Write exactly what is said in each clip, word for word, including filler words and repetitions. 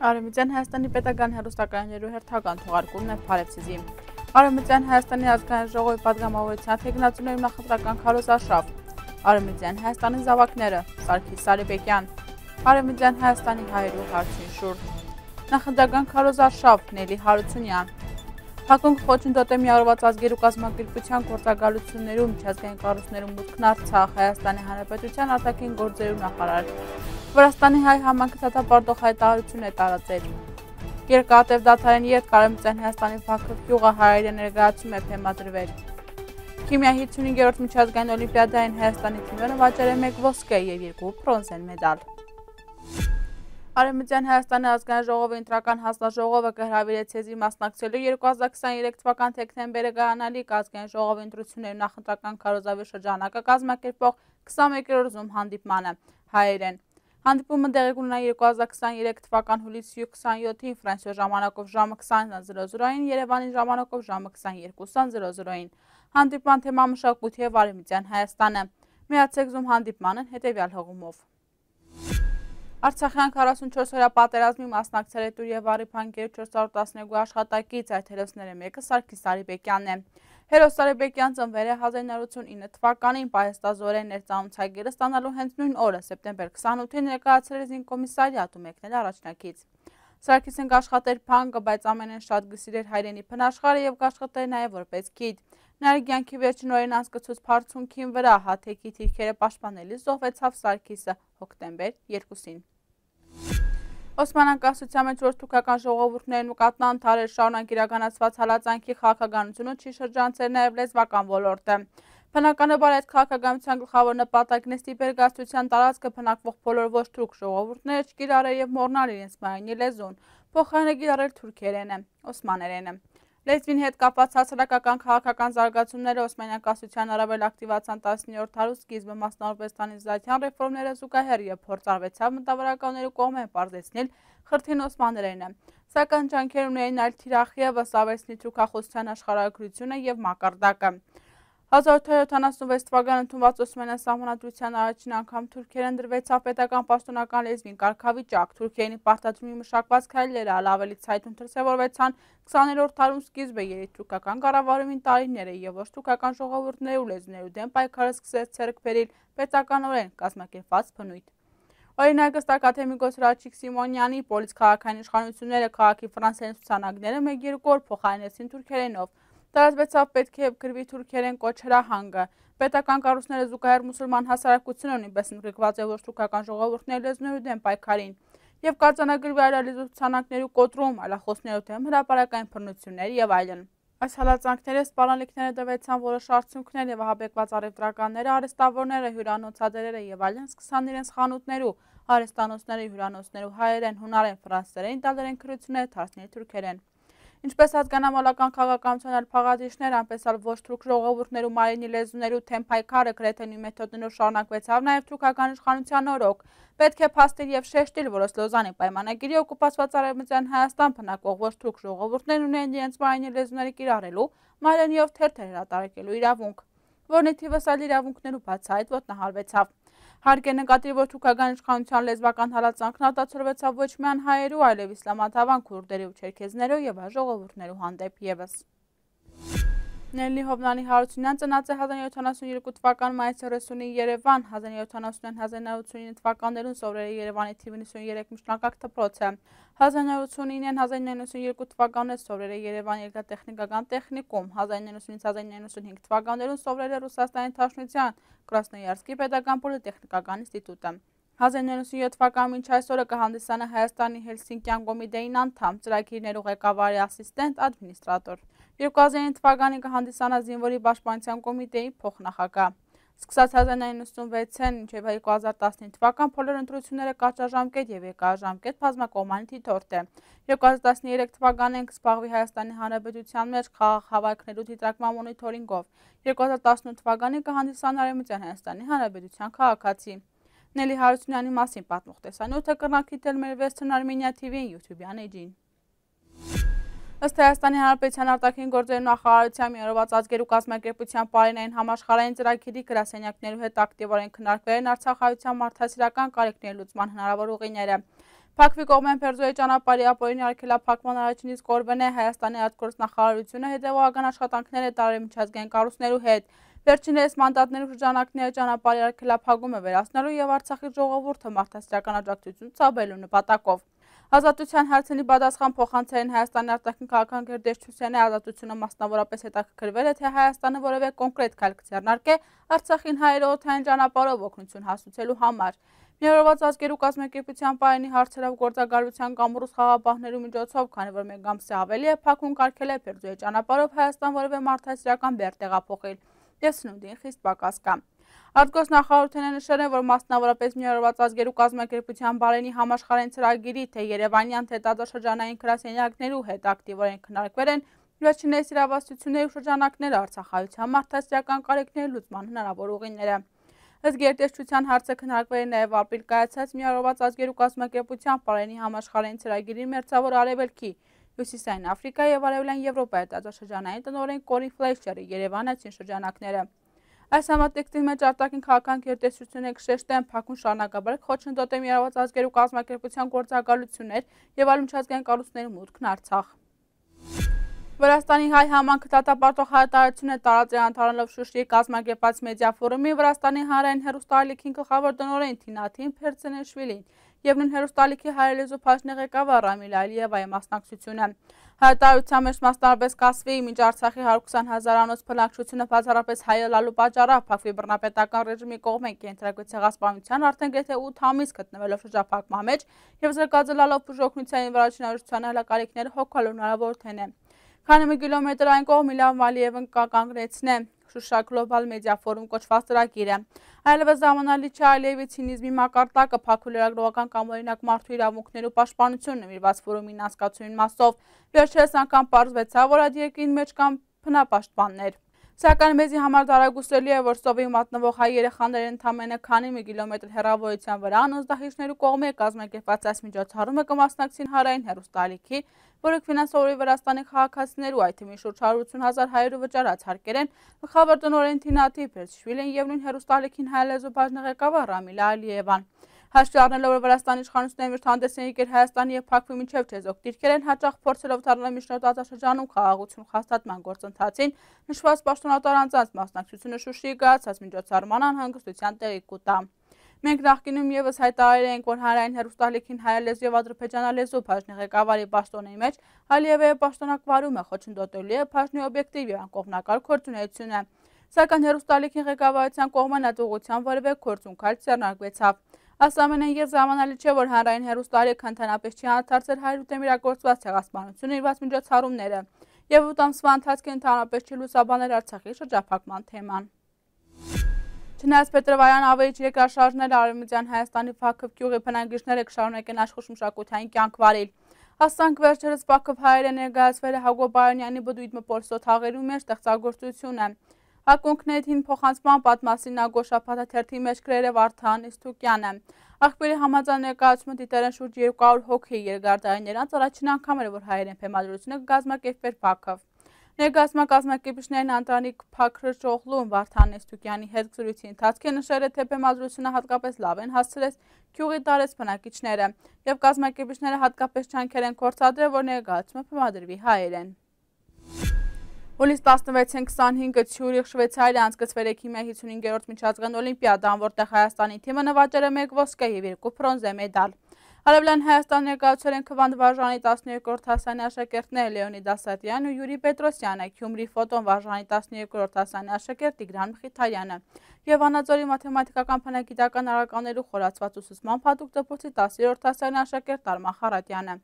Արևմտյան Հայաստանի պետական հեռուստակայաններու հերթական թողարկումն է Փարեվցիզի։ Արևմտյան Հայաստանի ազգային ժողովի պատգամավորության թեկնածուների նախընտրական քարոզարշավ։ Արևմտյան Հայաստանի զավակները Սարգիս Սարիբեկյան։ Արևմտյան Հայաստանի հայերու հարցին շուրջ։ Նախընտրական քարոզարշավ Նելի Հարությունյան։ Հակոնք խոչընդոտ է միավորված ազգերու կազմակերպության գործակալություններում միջազգային կառույցներում մուտքն Արցախ Հայաստանի Հանրապետության արտաքին գործերու նախարար։ Վրաստանի հայ համայնքը դատապարտող հայտարարություն է տարածել։ Երկաթև դադարեն յետ Արևմտյան Հայաստանի Բաքրով գյուղը հայերեն ներկայացում է բեմադրվել։ Քիմիայի հինգերորդ միջազգային օլիմպիադային Հայաստանի թիմերը վաճառել է մեկ ոսկե և երկու բրոնզեն մեդալ։ Արևմտյան Հայաստանի ազգային ժողովի ընտրական հանձնաժողովը կհրավիրեց եզրի մասնակցելու երկու հազար քսաներեք թվական դեկտեմբերը կայանալիք ազգային ժողովի ընտրությունների նախընտրական քարոզարշավի շրջանակը կազմակերպող քսաներկերորդ Zoom հանդիպմանը հայերեն։ Հանդիպումը տեղի կունենա երկու հազար քսաներեք թվական հուլիսի քսանյոթին Ֆրանսիոյի ժամանակով ժամը քսան-ին, Երևանի ժամանակով ժամը քսաներկու-ին։ Հանդիպման թեման մշակույթ և Արևմտյան Հայաստանը։ Միացեք Zoom հանդիպմանն հետևյալ հղումով։ Արցախյան քառասունչորս օրյա պատերազմի մասնակցել է Տուր և Արիփանկերու չորսսարսուն տասներկու աշխատակից, այդ հերոսները մեկը Սարգիս Սարիբեկյանն է։ Հերոս Սարիբեկյան ծնվել է հազար իննսուն ութանասունինը թվականին պահեստազորեն ներծանոթագիրը ստանալու հենց նույն օրը սեպտեմբեր քսանութին ներկայացել է զինկոմիսարիատում եկնել առաջնակից։ Սարգիսն կաշխատեր փանկը, բայց ամենեն շատ գսիրեր հայրենի փնաշխարհը և կաշխատեր նաև որպես գիդ։ Նրա կյանքի վերջին օրերին անցկացուց բարձունքին վրա հաթեկի թիրքերը պաշտպանելիս զոհվեցավ Սարգիսը հոկտեմբեր երկուսին։ Օսմանյան կայսրության մեջ որ թուրքական ժողովուրդներն ու կաթնանթարեր շարունակ իրականացված հալածանքի քաղաքականությունը չի շրջանցել նաև լեզվական ոլորտը։ Բնականաբար այդ քաղաքականության գլխավոր նպատակն է ստիպել կայսրության տարածքը բնակվող բոլոր ոչ թուրք ժողովուրդները չկիրառել և մոռանալ իրենց մայրենի լեզուն, փոխարենը կիրառել թուրքերենը, օսմաներենը։ Լեզվին հետ կապված հասարակական քաղաքական զարգացումները Օսմանյան կայսրության առավել ակտիվացան տասնյոթերորդ դարու սկիզբը, մասնավորապես տանիզացիան ռեֆորմները զուգահեռ և փորձարվեցավ մտավորականներու կողմէն պարզեցնել խրթին օսմաներենը, սակայն ջանքեր ունեին այլ թիրախ ևս ավելցնի թուրքախոսության աշխարհագրությունը և մակարդակը։ հազար ութ հարյուր յոթանասունվեց թվականին ընդունված Օսմանյան սահմանադրության առաջին անգամ թուրքերեն դրվեցավ պետական պաշտոնական լեզվին կարգավիճակ, թուրքերենի պարտադրումի մշակված քայլերը այլ ավելի ցայտուն դրսևորվեցան քսաներորդ դարում սկիզբը երիտթուրքական կառավարումին տարիները և ոչ թուրքական ժողովուրդներու լեզուներու դեմ պայքարը սկսեց ձեռք բերել պետականորեն կազմակերպված բնույթ։ Օրինակ ըստ ակադեմիկոս Հրաչիկ Սիմոնյանի, պոլիցքաղաքային իշխանությունները քաղաքի ֆրանսերեն ցուցանակները մեկ-երկու օր փոխարինեցին թուրքերենով։ Տարածվեցավ պետք է գրվի թուրքերեն կոչ հրահանգը։ Պետական կառույցները զուգահեռ մուսուլման հասարակությունը նույնպես ընդգրկված է ոչ թուրքական ժողովուրդների լեզուներու դեմ պայքարին և կարձանագրվի այլայլեզու ցուցանակներու կոտրում, այլախոսներու դեմ հրապարակային բռնություններ և այլն։ Այս հալածանքները սպառնալիքները տվեցան որոշ արդյունքներ և ահաբեկված առևտրականները, արհեստավորները, հյուրանոցատերերը և այլն սկսան իրենց խանութներու, արհեստանոցները, հյուրանոցներու հայերեն, հունարեն, ֆրանսերեն, իտալերեն գրությունները դարձնել թուրքերեն։ Ինչպես հատկանամոլական քաղաքականության այլ փաղադրիչներ, այնպես էլ ոչ թուրք ժողովուրդներու մայրենի լեզուներու թեմ պայքարը գրեթե նույն մեթոդներով շարունակվեցավ նաև թուրքական իշխանության օրոք։ Պետք է փաստել և շեշտել, որ ըստ Լոզանի պայմանագիրի օկուպացված Արևմտյան Հայաստան բնակվող ոչ թուրք ժողովուրդներն ունեն իրենց մայրենի լեզուները կիրառելու, մայրենիով թերթեր հրատարակելու իրավունք, որն ի թիվս այլ իրավունքներու բացահայտ ոտնահարվեցավ։ Հարկ է նկատել, որ թուրքական իշխանության լեզվական հալածանքն արտացոլվեցավ ոչ միայն հայերու, այլև իսլամադավան քուրդերու, չերքեզներու և այլ ժողովուրդներու հանդեպ ևս։ Նելի Հովնանի Հարությունյան ծնած է հազար իննսուն ութանասունյոթ թվականի մայիսի հիսունին Երևան, հազար իննսուն ութանասունին հազար իննսուն ութանասունինը թվականներուն սովորել է Երևանի թիվ նվսունյոթ միջնակարգ դպրոցը։ հազար իննսուն ութանասունինին հազար իննսուն ութանասունյոթ թվականները սովորել է Երևանի երկաթտեխնիկական տեխնիկում, հազար իննսուն ութանասունինից հազար իննսուն ութանասունհինգ թվականներուն սովորել է Ռուսաստանի Դաշնության Կրասնոյարսկի պետական պոլիտեխնիկական ինստիտուտը։ հազար իննսուն ութանասունյոթ թվականին մինչ այսօրը կհանդիսանա Հայաստանի Հելսինկյան կոմիտեին անդամ, ծրագիրներու ղեկավարի ասիստենտ, ադմինիստրատոր։ երկու հազար ինը թվականին կհանդիսանա Զինվորի պաշտպանության կոմիտեի փոխնախագահ։ Սկսած հազար իննսուն նվսունվեցին մինչև երկու հազար տասնինը թվական բոլոր ընտրությունները կարճաժամկետ և երկարաժամկետ բազմակողմանի դիտորդ է։ երկու հազար տասներեք թվականին կզբաղվի Հայաստանի Հանրապետության մեջ խաղաղ հավաքներու դիտարկման մոնիթորինգով։ երկու հազար տասնութ թվականին կհանդիսանա Արևմտյան Հայաստանի Հանրապետության քաղաքացի։ Նելի Հարությունյանի մասին պատմող տեսանյութը կրնակ դիտել մեր Western Armenia T V-ին YouTube-յան էջին։ Ըստ Հայաստանի Հանրապետության արտաքին գործերու նախարարության միավորված ազգերու կազմակերպության պարենային համաշխարհային ծրագիրի գրասենյակներու հետ ակտիվորեն քննարկվել են արցախայցյան մարդասիրական կարիքների լուծման հնարավոր ուղիները։ Փակվի կողմեն Փերձոյի ճանապարհի ապօրինի արգելափակման առաջին իսկ օրվան է Հայաստանի արտգործնախարարությունը հետևողական աշխատանքներ է տարել միջազգային կառույցներու հետ։ Վերջիններս մանդատներու շրջանակները ճանապարհի արգելափակումը վերացնելու եւ Արցախի ժողովուրդը մարդասիրական աջակցություն ցուցաբերելու նպատակով։ Ազատության հարցերի պատասխան փոխանցել Հայաստանի արտաքին քաղաքական գերտեսչությանը ազատությունը մասնավորապես հետաքրքրվել է, թե Հայաստանը որևէ կոնկրետ քայլ կձեռնարկե Արցախին հայերի օդային ճանապարհով օգնություն հասցնելու համար։ Միավորված ազգերու կազմակերպության պայանի հարցերով գործակալության կամ ռուս խաղապահներու միջոցով, քանի որ մեկ ամսի ավելի է փակուն կարգել է Փերձոյի ճանապարհով Հայաստան որևէ մարդասիրական բեռ տեղափոխել։ Ես սնունդին խիստ պակաս կա։ Արտգործնախարարությունը նշել է, որ մասնավորապես Միավորված ազգերու կազմակերպության բարենի համաշխարհային ծրագիրի թե Երևանյան, թե տարածաշրջանային գրասենյակներու հետ ակտիվորեն քննարկվել են վերջիններս իրավասությունների շրջանակները Արցախայցյան մարդասիրական կարիքների լուծման հնարավոր ուղիները։ Ըստ գերտեսչության հարցը քննարկվել է նաև ապրիլ կայացած Միավորված ազգերու կազմակերպության բարենի համաշխարհային ծրագիրի մերձավոր արևելքի, Հյուսիսային Աֆրիկայի եւ Արևելյան Եվրոպայի տարածաշրջանային տնօրեն Կորին Ֆլեյշերի Երևանացին շրջանակները։ Այս համատեքստի մեջ արտաքին քաղաքական գերտեսչությունը կշեշտեն փակուն շարունակաբար խոչընդոտել Միավորված ազգերու կազմակերպության գործակալություններ եւ այլ միջազգային կառույցների մուտքն Արցախ։ Վրաստանի հայ համանքը դատապարտող հայտարարություն է տարածել անդառնալով Շուշիի կազմակերպած մեդիա ֆորումի Վրաստանի հանրային հեռուստաալիքին գլխավոր տնօրեն Թինաթին Փերցենեշվիլին եւ նույն հեռուստաալիքի հայերենի բաժնի ղեկավար Ռամիլ Ալիևայի մասնակցությունը։ Հայտարարության մեջ մասնավորապես կասվի մինչ Արցախի հարյուր քսան հազարանոց բնակչությունը բացառապես հայելալու պատճառով փակվի բռնապետական ռեժիմի կողմեն կենտրոնական ցեղասպանության արդեն գրեթե ութ ամիս գտնվելով շրջափակման մեջ եւ զրկազրլալով բուժօգնության եւ վարչության հալակարիքները հոգալու հնարավորություն է։ Քանի մի կիլոմետր այն կողմ Իլհամ Ալիևն կանգնեցնե Շուշա գլոբալ մեդիա ֆորում կոչված ծրագիրը։ Այլևս զամանալի չէ Ալիևի ցինիզմի մակարդակը փակու լրագրողական կամ օրինակ մարդու իրավունքներու պաշտպանությունը նվիրված ֆորումին անցկացումին մասով։ Վերջերս անգամ պարզվեցավ, որ այդ երկրին մեջ կան բնապաշտպաններ։ Սակայն մեզի համար դարագուսելի է, որ սովի մատնվող հայ երեխաները ընդամենը քանի մի կիլոմետր հեռավորության վրա անոզդահիջներու կողմի կազմակերպված այս միջոցառումը կմասնակցին հանրային հեռուստաալիքի, որը ֆինանսավորի Վրաստանի քաղաքացիներու, այդ թվում շուրջ հարյուր ութ հազար հայերու վճարած հարկեր են, գլխավոր տնօրեն Թինաթի Փերցեշվիլին եւ նույն հեռուստաալիքին հայելեզու բաժնի ղեկավար Ռամիլ Ալիևան։ Հաշվի առնելով, որ Վրաստանի իշխանությունները միշտ հանդես են եկել Հայաստանի եւ փակվի միջև չեզոք դիրքեր են հաճախ փորձելով դառնալ միջնորդ տարածաշրջանում խաղաղություն հաստատման գործընթացին, նշված պաշտոնատար անձանց մասնակցությունը Շուշիի կայացած միջոցառման անհանգստության տեղի կուտա։ Մենք նախկինում եւս հայտարարել ենք, որ հանրային հեռուստաալիքին հայալեզու եւ ադրբեջանալեզու բաժնի ղեկավարի պաշտոնի մեջ Ալիևի պաշտոնակվարումը խոչընդոտելու է բաժնի օբյեկտիվ եւ անկողմնակալ գործունեությունը։ Սակայն հեռուստաալիքին ղեկավարության կողմն այդ ուղղությամբ որևէ գործունքալ ձեռնարկվեցավ։ Այս ամենին եւ զամանալի չէ, որ հանրային հեռուստաալիքը ընդհանրապես չի անդրադարձել հայրու դեմ իրագործված ցեղասպանությունը իրված միջոցառումները եւ ութ ամսվա ընթացքում ընդհանրապես չի լուսաբանել Արցախի շրջափակման թեման։ Չնայած Պետրովայան ավելի երկրաշարժներ Արևմտյան Հայաստանի Բաքով գյուղի բնակիչները կշարունակեն աշխուժ մշակութային կյանք վարել։ Ասանք վերջերս Բաքով հայերը ներկայացվել է Հակոբ Բայանյանի բդույթ մփորձո թաղերու մեջ ստեղծագործությունը։ Ակունքներին փոխանցման պատմասին Ագոշապաթա թերթի մեջ գրել է Վարդան Իստուկյանը։ Աղբերի համաձայն ներկայացումը դիտել են շուրջ երկու հարյուր հոգի երկարդային անց առաջին անգամ էր, որ հայերեն բեմադրությունը կազմակերպվեր Բաքով։ Ներկայացման կազմակերպիչներն Անտրանիկ Փաքրճօղլուն Վարդան Իստուկյանի հետ զրույցի ընթացքում նշել է, թե բեմադրությունը հատկապես լավ են հասցրել գյուղի տարեց բնակիչները եւ կազմակերպիչները հատկապես ջանքեր են գործադրել, որ ներկայացումը բեմադրվի հայերեն։ Հուլիսի տասնվեցին քսանհինգը Ցյուրիխ Շվեյցարիա անցկացվել է քիմիա հիսունհինգերորդ միջազգային օլիմպիադան, որտեղ Հայաստանի թիմը նվաճել է մեկ ոսկե եւ երկու բրոնզե մեդալ։ Արևելյան Հայաստան ներկայացրել են քվանդ վարժանի տասնյոթերորդ հասանի աշակերտները Լեոնիդ Ասատյանն ու Յուրի Պետրոսյանը, Գյումրի ֆոտոն վարժանի տասնյոթերորդ հասանի աշակերտ Տիգրան Մխիթարյանը եւ Վանաձորի մաթեմատիկական բնագիտական առարկաներու խորացված ուսուցման փաթուղթ դպրոցի տասներորդ հասանի աշակերտ Արման Խարատյանը։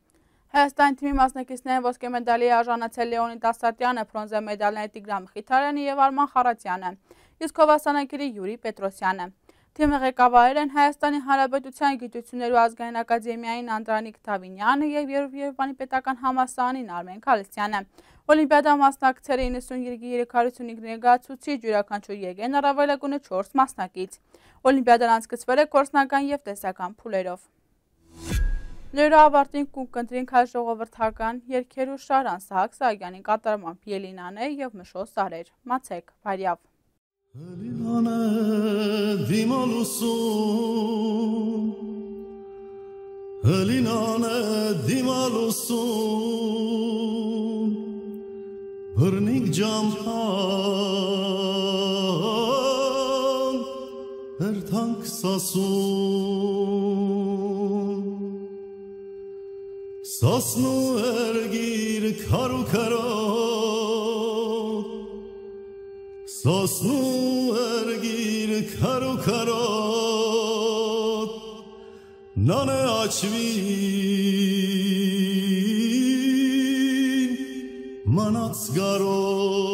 Հայաստանի թիմի մասնակիցները ոսկե մեդալի է արժանացել Լեոնիդ Ասատյանը, բրոնզե մեդալների Տիգրան Մխիթարյանը եւ Արման Խարատյանը, իսկ հովասանագիրի Յուրի Պետրոսյանը։ Թիմը ղեկավարել են Հայաստանի Հանրապետության Գիտություններու ազգային ակադեմիային Անդրանիկ Թավինյանը եւ Երևանի պետական համալսարանին Արմեն Քալստյանը։ Օլիմպիադա մասնակցել է իննսուն երկու երեք հարյուր ութ ներկայացուցիչ, յուրաքանչյուր եկեն առավելագույնը չորս մասնակից։ Օլիմպիադան անցկացվել է գործնական եւ տեսական փուլերով։ Լերա ավարտին կունկընտրինք հայ ժողովրդական երգերու Շարան Սահակ Սահակյանի կատարմամբ Ելինան է եւ Մշո Սարեր։ Մացեք, բարյավ։ Ելինան է դիմալուսում Հլինանը դիմալուսուն բռնիկ ջամփան հերթանք սասուն սասնու երգիր քարու քարոտ սասնու երգիր քարու քարոտ նանը աչվին մանած գարոտ